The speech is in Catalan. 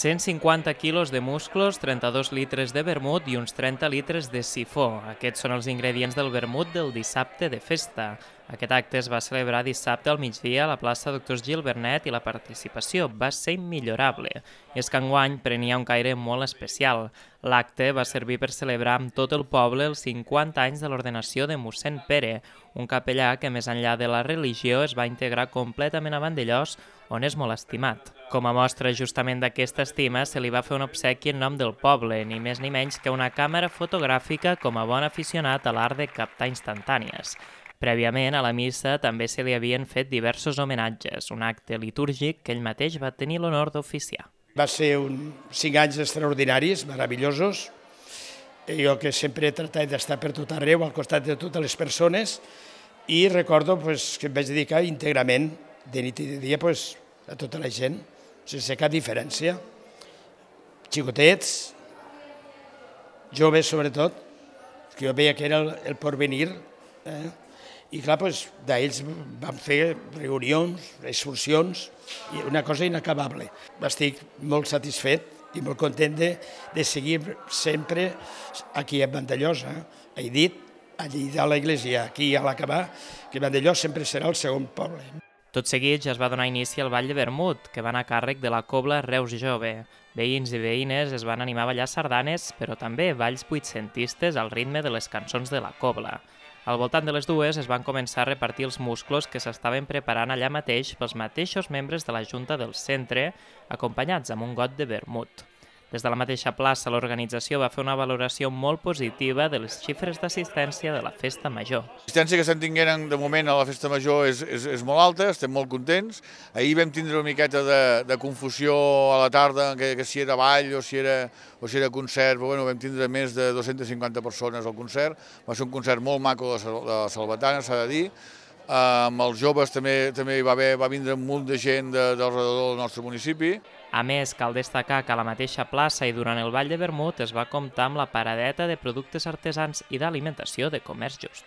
150 quilos de musclos, 32 litres de vermut i uns 30 litres de sifó. Aquests són els ingredients del vermut del dissabte de festa. Aquest acte es va celebrar dissabte al migdia a la plaça Doctors Gil Vernet i la participació va ser immillorable. I és que enguany prenia un caire molt especial. L'acte va servir per celebrar amb tot el poble els 50 anys de l'ordenació de mossèn Pere, un capellà que més enllà de la religió es va integrar completament a Vandellòs, on és molt estimat. Com a mostra justament d'aquesta estima, se li va fer un obsequi en nom del poble, ni més ni menys que una càmera fotogràfica com a bon aficionat a l'art de captar instantànies. Prèviament, a la missa també se li havien fet diversos homenatges, un acte litúrgic que ell mateix va tenir l'honor d'oficiar. Va ser 5 anys extraordinaris, meravellosos. Jo que sempre he tractat d'estar per tot arreu, al costat de totes les persones, i recordo que em vaig dedicar íntegrament, de nit i de dia, a tota la gent, sense cap diferència. Xicotets, joves sobretot, que jo veia que era el porvenir, i clar, d'ells vam fer reunions, excursions, i una cosa inacabable. Estic molt satisfet i molt content de seguir sempre aquí a Vandellòs. He dit, allí a l'església, aquí a l'acabar, que Vandellòs sempre serà el segon poble. Tot seguit ja es va donar inici al ball de vermut, que va anar a càrrec de la Cobla Reus Jove. Veïns i veïnes es van animar a ballar sardanes, però també balls vuitcentistes al ritme de les cançons de la Cobla. Al voltant de les dues es van començar a repartir els musclos que s'estaven preparant allà mateix pels mateixos membres de la Junta del Centre, acompanyats amb un got de vermut. Des de la mateixa plaça, l'organització va fer una valoració molt positiva de les xifres d'assistència de la Festa Major. L'assistència que se'n tingueren de moment a la Festa Major és molt alta, estem molt contents. Ahir vam tindre una miqueta de confusió a la tarda, que si era ball o si era concert, però vam tindre més de 250 persones al concert. Va ser un concert molt maco de Salvatana, s'ha de dir. Amb els joves també va vindre un munt de gent del del nostre municipi. A més, cal destacar que a la mateixa plaça i durant el ball de vermut es va comptar amb la paradeta de productes artesans i d'alimentació de comerç just.